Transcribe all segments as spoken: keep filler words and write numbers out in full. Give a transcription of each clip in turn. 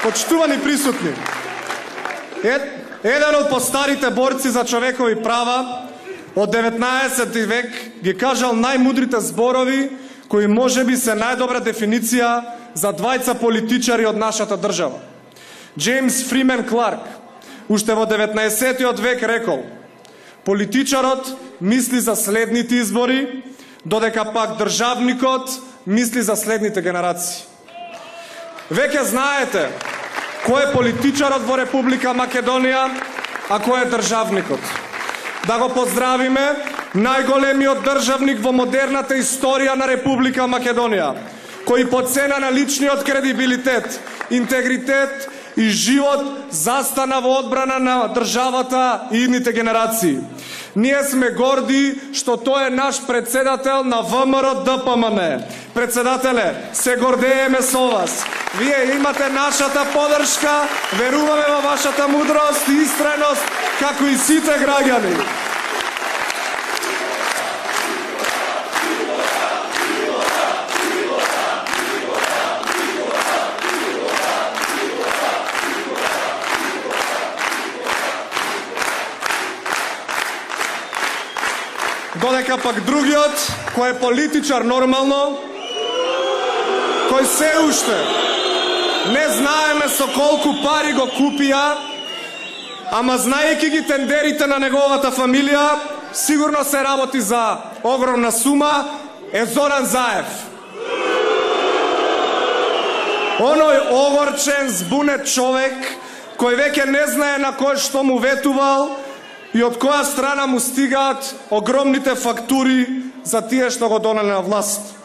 Почитувани присутни, ед, еден од постарите борци за човекови права од деветнаесети век ги кажал најмудрите зборови кои можеби се најдобра дефиниција за двајца политичари од нашата држава. Джеймс Фримен Кларк уште во деветнаесеттиот век рекол: политичарот мисли за следните избори, додека пак државникот мисли за следните генерации. Веќе знаете кој е политичарот во Република Македонија, а кој е државникот. Да го поздравиме најголемиот државник во модерната историја на Република Македонија, кој по цена на личниот кредибилитет, интегритет и живот застана во одбрана на државата и идните генерации. Ние сме горди што тој е наш председател на ВМРО Д П М Н. Председателе, се гордееме со вас. Вие имате нашата поддршка, веруваме во вашата мудрост и истреност, како и сите граѓани. Додека пак другиот, кој е политичар нормално, кој се уште не знаеме со колку пари го купија, ама знаејќи ги тендерите на неговата фамилија, сигурно се работи за огромна сума, е Зоран Заев. Оној огорчен, збунет човек, кој веќе не знае на кој што му ветувал и од која страна му стигаат огромните фактури за тие што го донеле на власт.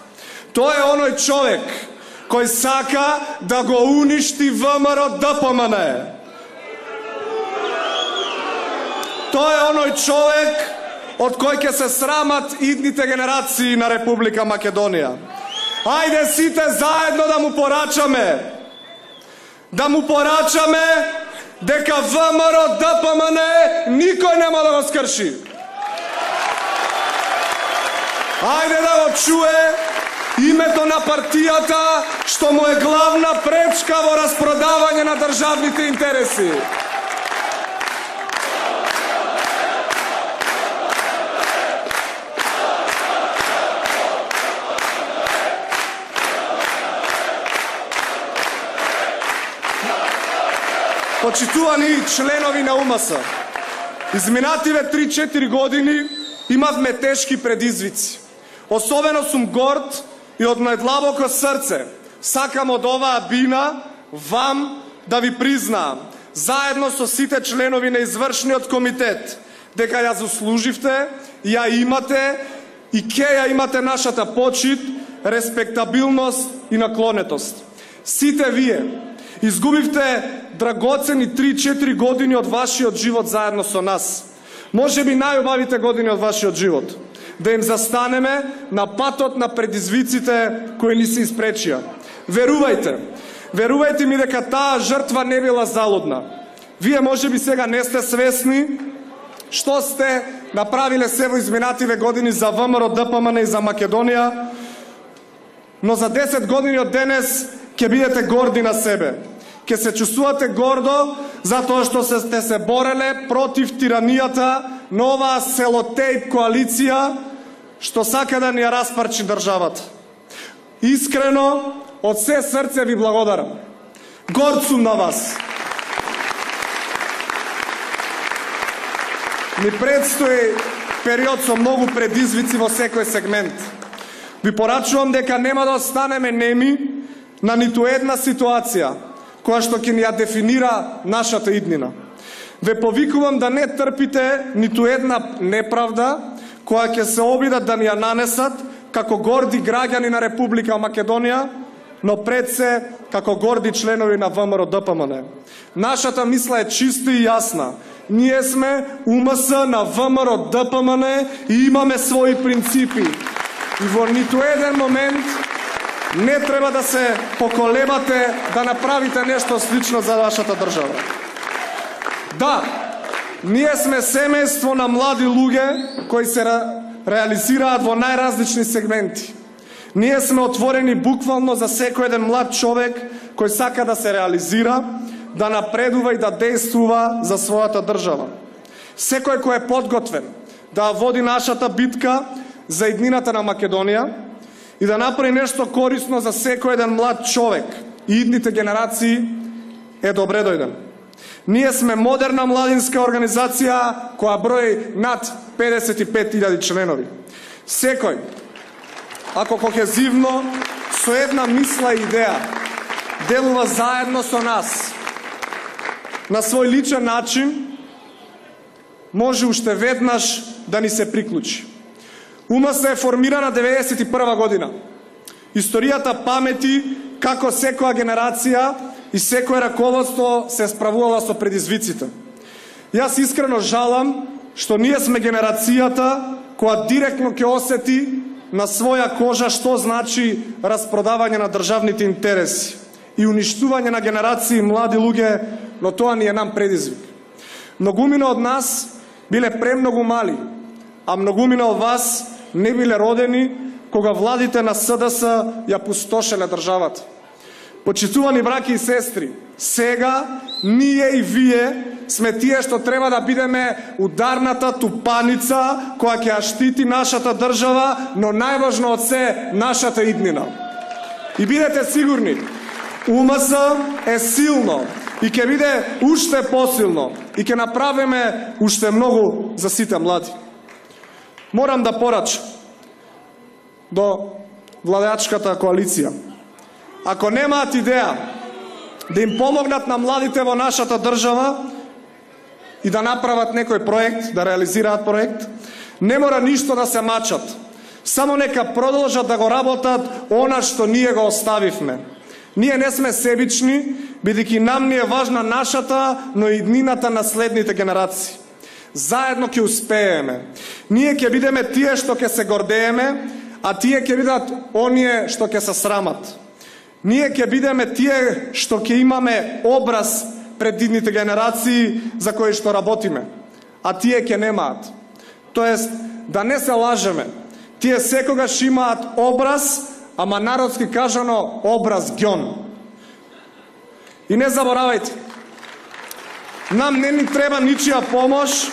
Тој е оној човек кој сака да го уништи ВМРО Д П М Н. Тој е оној човек од кој ќе се срамат идните генерации на Република Македонија. Ајде сите заедно да му порачаме, да му порачаме дека ВМРО Д П М Н никој нема да го скрши. Ајде да го чуе името на партијата што му е главна пречка во распродавање на државните интереси. Почитувани членови на У М С, изминативе три-четири години имавме тешки предизвици. Особено сум горд и од најдлабоко срце сакам од оваа бина вам да ви признаам, заедно со сите членови на извршниот комитет, дека ја заслуживте, ја имате и ке ја имате нашата почит, респектабилност и наклонетост. Сите вие изгубивте драгоцени три-четири години од вашиот живот заедно со нас. Можеби најубавите години од вашиот живот. Да им застанеме на патот на предизвиците кои ни се испречија. Верувајте, верувајте ми дека таа жртва не била залудна. Вие можеби сега не сте свесни што сте направиле се во изминативе години за ВМРО Д П М Н и за Македонија, но за десет години од денес ќе бидете горди на себе. Ќе се чувствувате гордо затоа што се сте се бореле против тиранијата на оваа селотејп коалиција што сака да ни ја распарчи државата. Искрено, од се срце ви благодарам. Горд сум на вас. Ни предстои период со многу предизвици во секој сегмент. Ви порачувам дека нема да останеме неми на ниту една ситуација која што ќе ни ја дефинира нашата иднина. Ве повикувам да не трпите ниту една неправда која ќе се обидат да ни ја нанесат како горди граѓани на Република Македонија, но пред се како горди членови на ВМРО Д П М Н. Нашата мисла е чиста и јасна. Ние сме У М С на ВМРО Д П М Н и имаме своји принципи. И во ниту еден момент не треба да се поколебате да направите нешто слично за вашата држава. Да, ние сме семејство на млади луѓе кои се ре, реализираат во најразлични сегменти. Ние сме отворени буквално за секој еден млад човек кој сака да се реализира, да напредува и да действува за својата држава. Секој кој е подготвен да води нашата битка за иднината на Македонија и да направи нешто корисно за секој еден млад човек и идните генерации е добре дојден. Ние сме модерна младинска организација која брои над педесет и пет илјади членови. Секој, ако кохезивно, со една мисла и идеја, делува заедно со нас, на свој личен начин, може уште веднаш да ни се приклучи. УМС е формирана деветдесет и прва година. Историјата памети како секоја генерација и секој раководство се справувала со предизвиците. Јас искрено жалам што ние сме генерацијата која директно ќе осети на своја кожа што значи распродавање на државните интереси и уништување на генерации млади луѓе, но тоа ни е нам предизвик. Многумина од нас биле премногу мали, а многумина од вас не биле родени кога владите на СДС ја пустошеле државата. Почитувани браќи и сестри, сега ние и вие сме тие што треба да бидеме ударната тупаница која ќе ја штити нашата држава, но најважно од се нашата иднина. И бидете сигурни, УМС е силно и ќе биде уште посилно и ќе направиме уште многу за сите млади. Морам да порачам до владеачката коалиција. Ако немаат идеја да им помогнат на младите во нашата држава и да направат некој проект, да реализираат проект, не мора ништо да се мачат. Само нека продолжат да го работат она што ние го оставивме. Ние не сме себични, бидејќи нам ни е важна нашата, но и иднината на следните генерации. Заедно ќе успееме. Ние ќе бидеме тие што ќе се гордееме, а тие ќе бидат оние што ќе се срамат. Ние ќе бидеме тие што ќе имаме образ пред идните генерации за кои што работиме, а тие ќе немаат. Тоест, да не се лажеме, тие секогаш имаат образ, ама народски кажано образ ѓон. И не заборавајте, нам не ни треба ничија помош,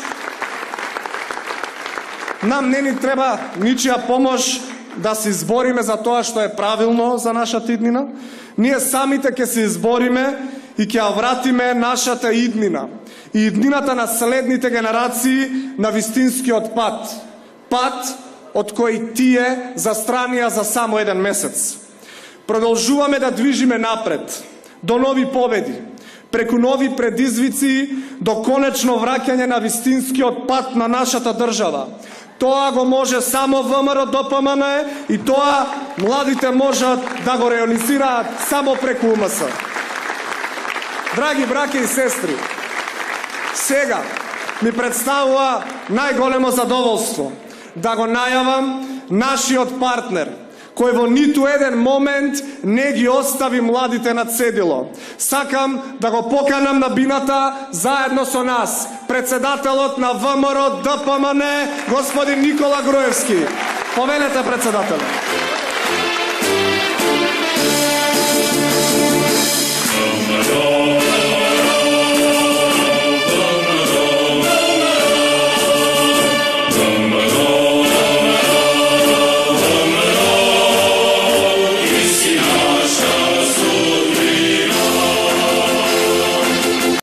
нам не ни треба ничија помош да се избориме за тоа што е правилно за нашата иднина. Ние самите ќе се избориме и ќе ја вратиме нашата иднина и иднината на следните генерации на вистинскиот пат. Пат од кој тие застранија за само еден месец. Продолжуваме да движиме напред, до нови победи, преку нови предизвици, до конечно враќање на вистинскиот пат на нашата држава. Тоа го може само ВМРО ДПМН и тоа младите можат да го реализираат само преку УМС. Драги браќа и сестри, сега ми представува најголемо задоволство да го најавам нашиот партнер, кој во ниту еден момент не ги остави младите на цедило. Сакам да го поканам на бината заедно со нас, председателот на ВМРО ДПМН, господин Никола Груевски. Повелете, председател. Oh